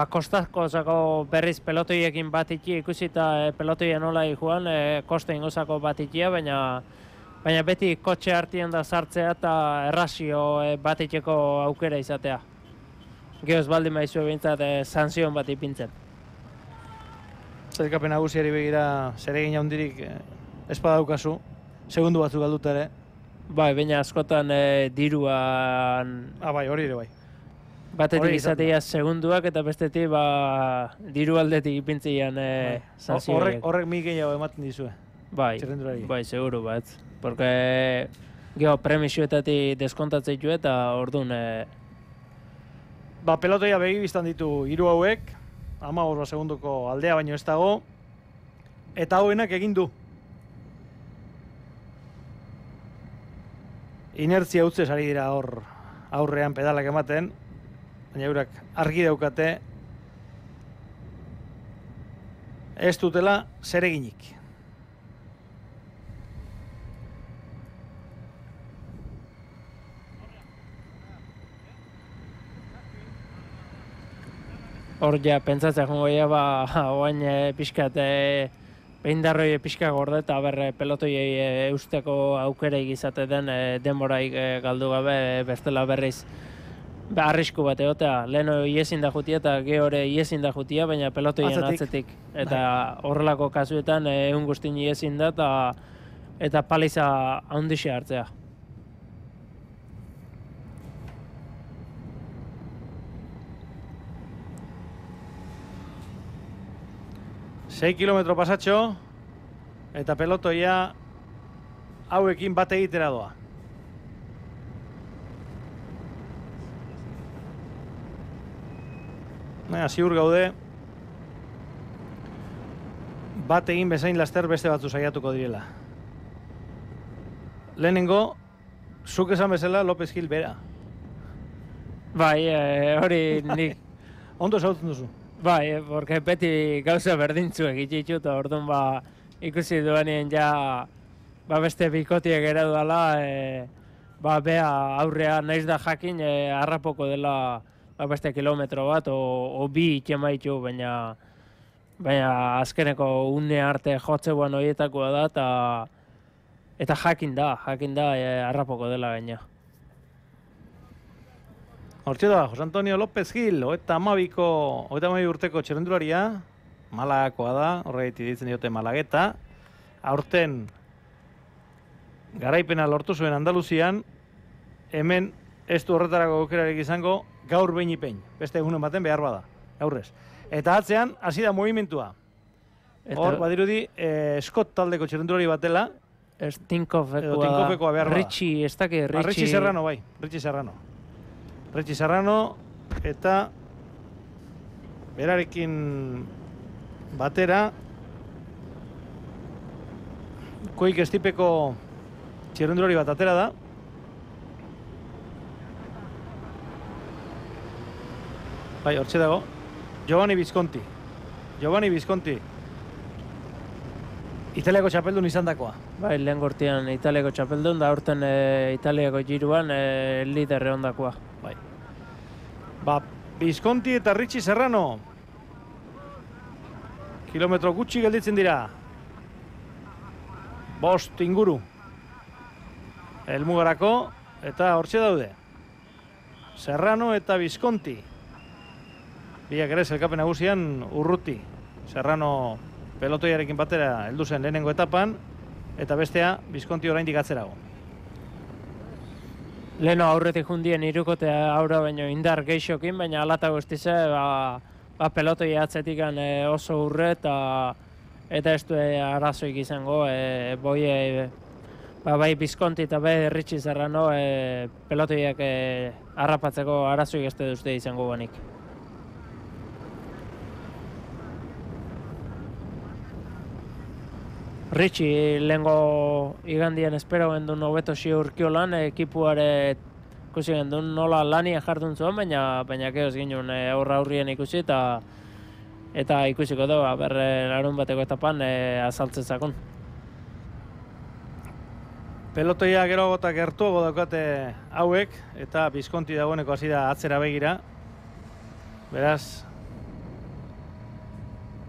kostazko berriz pelotoiekin bat ikusi eta pelotoia nola joan, koste ingozako bat baina beti kotxe hartien da sartzea eta errazio bat aukera izatea. Gehoz baldin maizue bintzat sanzion bat ipintzen. Zerkapen nagusiari begira zeregin handirik espadaukazu, segundu batzuk galduta ere. Bai, baina askotan diruan... Bai, hori ere bai. Batetik izatea segunduak eta bestetik diru aldetik ipintzean sanzioak. Horrek mi gehiago ematen dizue. Bai, seguru bat. Porque geho premisioetatik deskontatzen du eta orduan... Pelotoia begibiztan ditu hiru hauek, 15 segunduko aldea baino ez dago, eta hauenak egin du. Inertzia utzez ari dira hor aurrean pedalak ematen, baina eurak argi daukate ez dutela zereginik. Hor ja, pentsatzen jongo oain pixkat behindarroi pixka gorde eta pelotoiei eusteko aukereik izate den denboraik galdu gabe bestela berriz arrisku bat egotea. Leheno iezin da jutia eta gehore iezin da jutia, baina pelotoien atzetik. Eta horrelako kasuetan egun guztin iezin da eta paliza handixe hartzea. Sei kilometro pasatxo eta pelotoia hauekin bat egitera doa. Ziur gaude bat egin bezain laster beste batzu saiatuko direla. Lehenengo, zuk esan bezala López Gil bera. Bai, hori nik... Ondo zautzen duzu. Bai, porque beti gauza berdintzu egitxu eta orduan ikusi duenien beste bikotiek ere dudala, bea aurrea naiz da jakin harrapoko dela beste kilometro bat, o bi ikemaitu, baina azkeneko une arte jotzeuan horietakoa da, eta jakin da harrapoko dela gaina. Hortxe da, Jose Antonio López Gil, 32 urteko txirrendularia, Malagakoa da, horregatik ditzen diote Malageta. Aurten garaipena lortu zuen Andaluzian, hemen ez du horretarako aukerarik izango, gaur behin ipein, beste egunen baten behar bada, gaurrez. Eta atzean, hasi da movimentua. Hor, badirudi, Scott taldeko txirrendulari batela, Tinkofekoa behar bada. Richie, ez dakit, Richie Serrano, bai, Richie Serrano, eta berarekin batera Koik estipeko txirrendulari bat atera da. Bai, hortxe dago. Giovanni Visconti. Italiako txapeldun izan dakoa. Bai, lehen gortian Italiako txapeldun, da aurten Italiako giruan liderre ondakoa. Bai. Visconti eta Richie Serrano. Kilometro gutxi gelditzen dira. 5 inguru. Helmugarako, eta hortxe daude. Serrano eta Visconti. Biak ere zelkapen nagusian urruti. Serrano pelotoiarekin batera heldu zen lehenengo etapan, eta bestea Visconti oraindik atzerago. Leheno aurretik jundien irukotea aurra baino indar geixokin, baina alata guztize pelotoia atzetik oso urre eta ez du arazoik izango. Bai Visconti eta bai Richie Serrano pelotoiak harrapatzeko arazoik ez duzte izango banik. Richie lehengo igandian espero gendun hobeto ziurkiolan, ekipuare ikusi gendun nola lania jardun zuen, baina gehoz ginen aurrien ikusi eta ikusiko dugu, larun bateko etapan azaltzen zakon. Pelotoia gero eta gertuago daukate hauek, eta Bizkonti dagoeneko hasi da atzera begira. Beraz,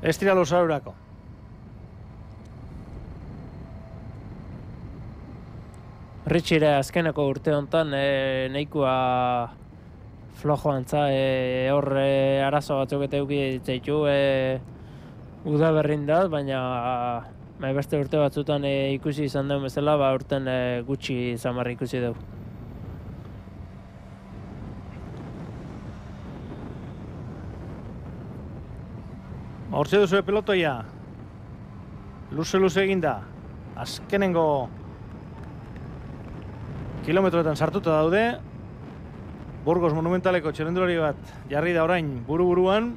ez dira luzaurako. Ritxire azkeneko urte honetan nahikoa flojo antza, hor arazo batzuk eta euki ditzaitu udaberrin da, baina beste urte batzutan ikusi izan duen bezala, urten gutxi zamarri ikusi dugu. Hortze duzu pelotoia, luze eginda, azkenengo kilometroetan sartuta daude. Burgos Monumentaleko txirrindulari bat jarri da orain buru-buruan.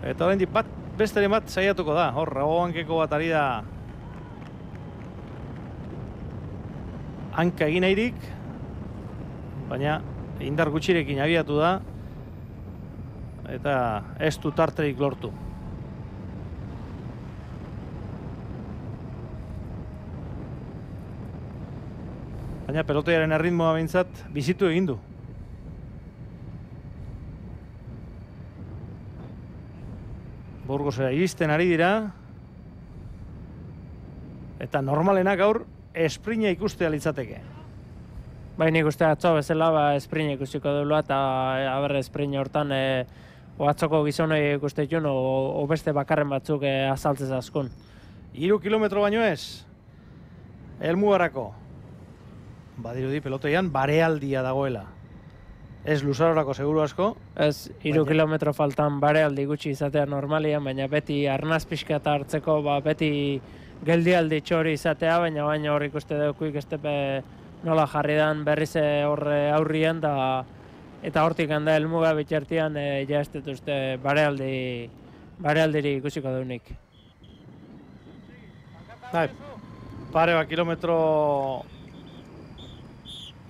Eta orain besteren bat saiatuko da, hor, hankeko bat ari da hanka egin nahirik, baina indar gutxirekin abiatu da, eta ez du tarterik lortu. Baina pelotoiaren erritmoa behintzat bizitu egin du. Burgosera iristen ari dira. Eta normalenak gaur esprina ikustea litzateke. Nik uste atzo bezala esprina ikusiko duela eta esprina hortan atzoko gizonei ikuste ditun o beste bakarren batzuk azaltzez askun. 3 kilometro baino ez, helmugarako. Badirudi pelotoian barealdia dagoela. Ez luzarorako seguru asko. Ez, 3 kilometro faltan barealdi gutxi izatea normalian, baina beti arnaz pixka eta hartzeko, beti geldialdi txori izatea, baina hor ikuste dugu estepe nola jarri dan berriz hor aurrian, eta hortik handa helmuga bitxertian ja ez dituzte barealdiri ikusiko duenik. Pare bat kilometro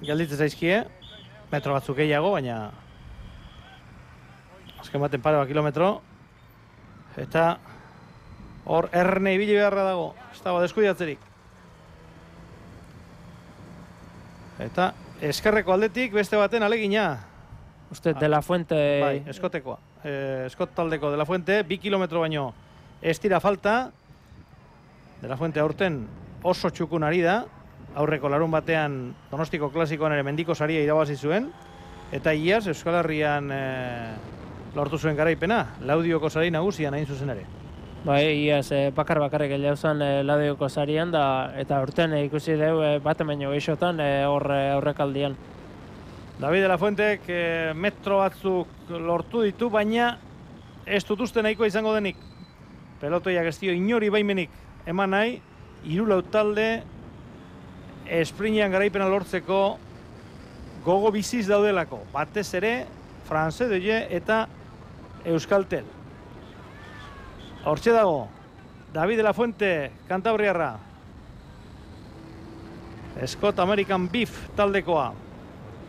gelditzen zaizkie, metro batzuk gehiago, baina azken baten pare bat kilometro, eta hor erne ibili beharra dago, ez dago deskuidatzerik. Eta eskerreko aldetik beste baten alegina. Uste, De La Fuente... Bai, eskotekoa. Eskot taldeko De La Fuente, 2 kilometro baino ez dira falta. De La Fuente aurten oso txukun ari da. Aurreko larun batean Donostiko klasikoan ere mendiko saria irabazi zuen. Eta iaz Euskal Herrian lortu zuen garaipena. Laudioko sari nagusian hain zuzen ere. Iaz bakarrik jauzan Laudioko sarian eta urten ikusi dugu baten baino geixotan aurrekaldian. David de la Fuentek metro batzuk lortu ditu, baina ez dutuzte nahikoa izango denik. Pelotoiak ez dio inori baimenik eman nahi, 3 lau talde esprinean garaipena lortzeko gogo biziz daudelako. Batez ere, France Deye eta Euskaltel. Hortxe dago, David de la Fuente, Kantabriarra. Scott American Beef taldekoa.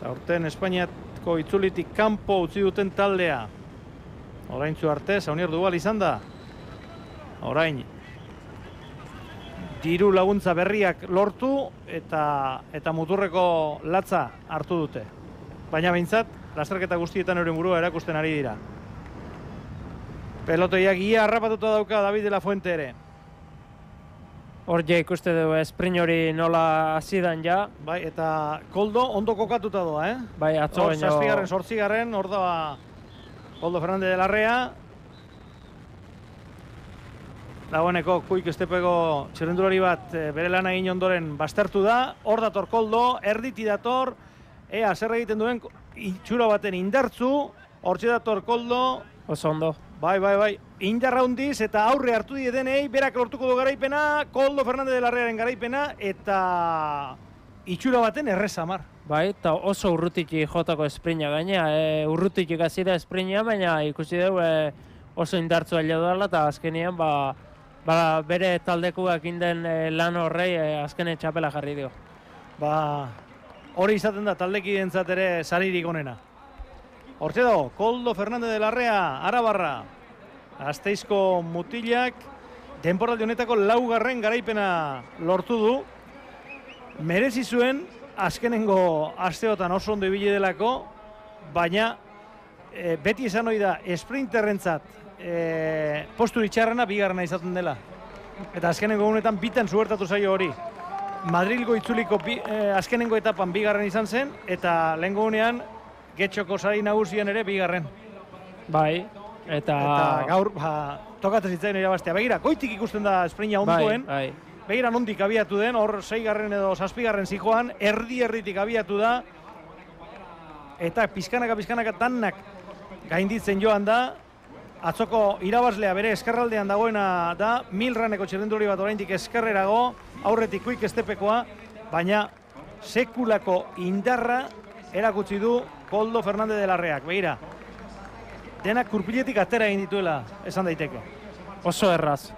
Aurten Espainiako itzulitik kanpo utzi duten taldea. Oraintzu arte, Saunier Duval izan da. Orain, diru laguntza berriak lortu eta muturreko latza hartu dute. Baina behintzat, lasterketa guztietan euren burua erakusten ari dira. Pelotoiak ia harrapatuta dauka David de la Fuente ere. Hor ja ikuste dugu sprint hori nola hasidan ja. Bai, eta Koldo ondo kokatuta doa, Bai, atzo baino... 7. 8. hor da Koldo Fernández de Larrea. Dagoeneko Kuik estepeko txirrindulari bat bere lan egin ondoren baztertu da. Hor dator Koldo, erditi dator. Ea, zer egiten duen itxura baten indartzu. Hortxe dator Koldo. Oso ondo. Bai. Indarra hundiz eta aurre hartu dietenei, berak lortuko du garaipena, Koldo Fernández de Larrearen garaipena, eta itxura baten errezamar. Bai, eta oso urrutiki jotako esprina gaina, urrutiki hasi da esprina, baina ikusi dugu oso indartzua heldu dela, eta azkenean bere taldekuak inden lan horrei azkenen txapela jarri dio. Hori izaten da taldekideentzat ere saririk onena. Hortxe dago, Koldo Fernandez de Larrea, Arabarra, Gasteizko mutilak, denboraldi honetako 4. garaipena lortu du. Merezi zuen azkenengo asteotan oso ondo ibili delako, baina beti esan hori da esprinterrentzat postu itxarrena 2. izaten dela. Eta azkenengo honetan bitan zuertatu zaio hori. Madrilgo itzuliko azkenengo etapan 2. izan zen, eta lehengo honean Getxoko sari nagusian ere 2. Bai, eta gaur tokatzen zitzaion irabaztea. Begira, goitik ikusten da esprina onduen. Bai. Begira nondik abiatu den, hor 6. edo 7. zijoan, erdi-erditik abiatu da. Eta pizkanaka tannak gainditzen joan da. Atzoko irabazlea bere eskerraldean dagoena da, Milraneko txirrindulari bat oraindik eskerrerago, aurretik Quick Stepekoa, baina sekulako indarra erakutsi du Koldo Fernandez de Larreak. Begira, denak kurpiletik atera egin dituela, esan daiteke. Oso erraz,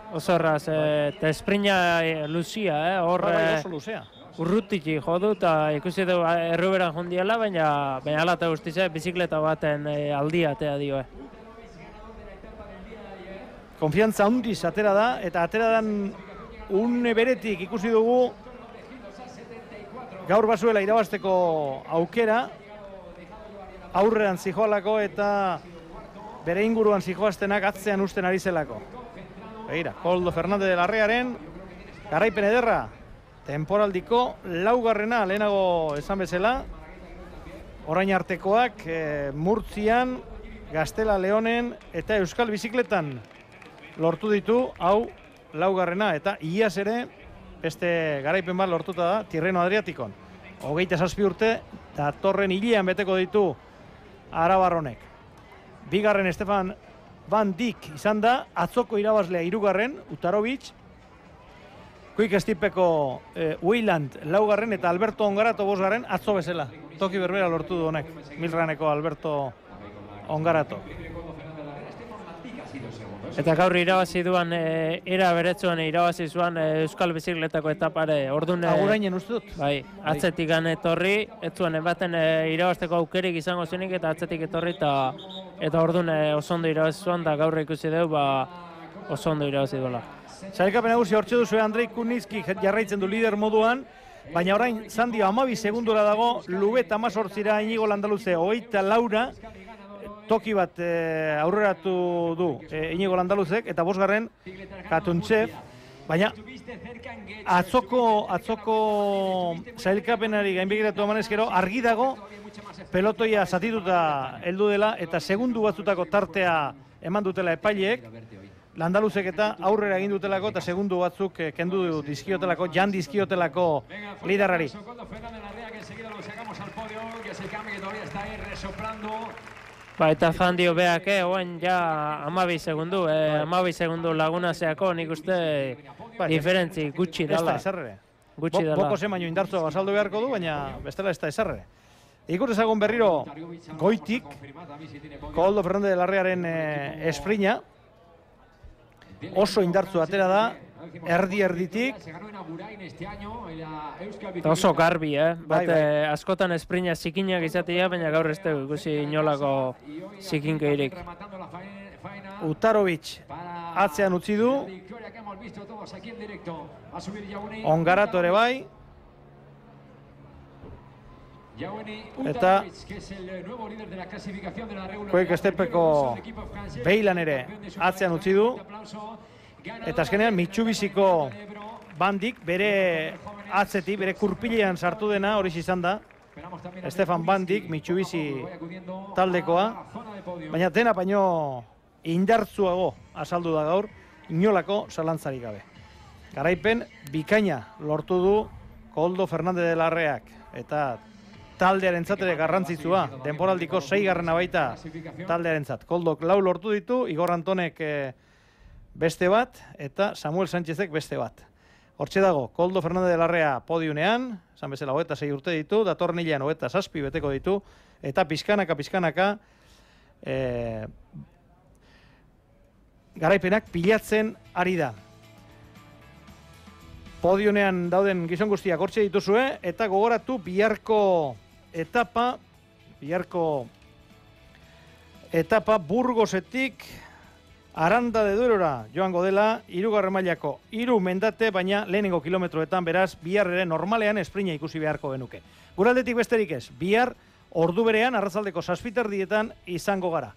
eta esprina luzia, hor oso luzea. urrutiki jodu, eta ikusi du erruberan jondiela, baina ala eta guztize bizikleta baten aldia atea dio. Konfiantza handiz atera da, eta atera dan une beretik ikusi dugu gaur bazuela irabazteko aukera, aurrean zijoalako eta bere inguruan zijoaztenak atzean usten ari zelako. Begira, Koldo Fernandez de Larrearen garaipen ederra, temporaldiko 4. lehenago esan bezala, orain artekoak Murtzian, Gaztela Leonen eta Euskal Bizikletan lortu ditu, hau 4. eta iaz ere beste garaipen bat lortuta da Tirreno Adriatikon. 27 urte, datorren hilean beteko ditu Arabarronek. 2. Stefan Van Dijk izan da, atzoko irabazlea 3. Utarovic, Quick Stepeko Weyland 4. eta Alberto Ongarato 5. atzo bezala. Toki berbera lortu du honek, Milraneko Alberto Ongarato. Eta gaur irabazi duan, era beretzuan irabazi zuan Euskal Bizikletako etapare. Agurainen uste dut? Bai, atzetik etorri, ez zuen baten irabazteko aukerik izango zuenik, eta atzetik etorri, eta orduan oso ondo irabazi zuan, eta gaur ikusi dugu, oso ondo irabazi duela. Sailkapen nagusi hortxe duzu Andrei Kunitski jarraitzen du lider moduan, baina orain Zandio 12 segundora dago, Lubet 18 Inigo Landaluze 24, toki bat aurreratu du Inigo Landaluzek, eta 5. Katuntxev, baina atzoko sailkapenari gainbegiratu emanezkero, argi dago pelotoia zatituta heldu dela, eta segundu batzutako tartea eman dutela epaileek, Landaluzek eta aurrera egin dutelako, eta segundu batzuk kendu dizkiotelako, jan dizkiotelako liderrari. Eta Zandio beak, oen ja 12 segundu, 12 segundu laguna zeako, nik uste diferentzi gutxi dela. Ez da eserre. Boko zen baino indartzoa basaldu beharko du, baina bestela ez da eserre. Ikus ezagun berriro goitik, Koldo Fernandez de Larrearen esprina, oso indartzu atera da, erdi-erditik. Eta oso garbi, askotan esprina zikinak izatea, baina gaur ez dugu ikusi inolako zikinkeirik. Utarovic atzean utzi du, Ongarato ere bai, eta Quick Stepeko Beilan ere atzean utzi du, eta azkenean Mitsubishiko Van Dijk bere atzetik, bere kurpilean sartu dena, hori izan da, Stefan Van Dijk, Mitsubishi taldekoa, baina dena baino indartzuago azaldu da gaur, inolako zalantzarik gabe. Garaipen bikaina lortu du Koldo Fernandez de Larreak, eta taldearentzat ere garrantzitsua, denboraldiko 6. baita taldearentzat. Koldok 4 lortu ditu, Igor Antonek beste bat, eta Samuel Sánchezek beste bat. Hortxe dago, Koldo Fernandez de Larrea podiunean, esan bezala 26 urte ditu, datorren hilean 27 beteko ditu, eta pizkanaka garaipenak pilatzen ari da. Podionean dauden gizon guztiak hortxe dituzue, eta gogoratu biharko etapa Burgosetik Aranda de Duerora joango dela, 3. mailako 3 mendate, baina lehenengo kilometroetan, beraz, bihar ere normalean esprina ikusi beharko genuke. Guraldetik besterik ez, bihar ordu berean, arratsaldeko 7 erdietan izango gara.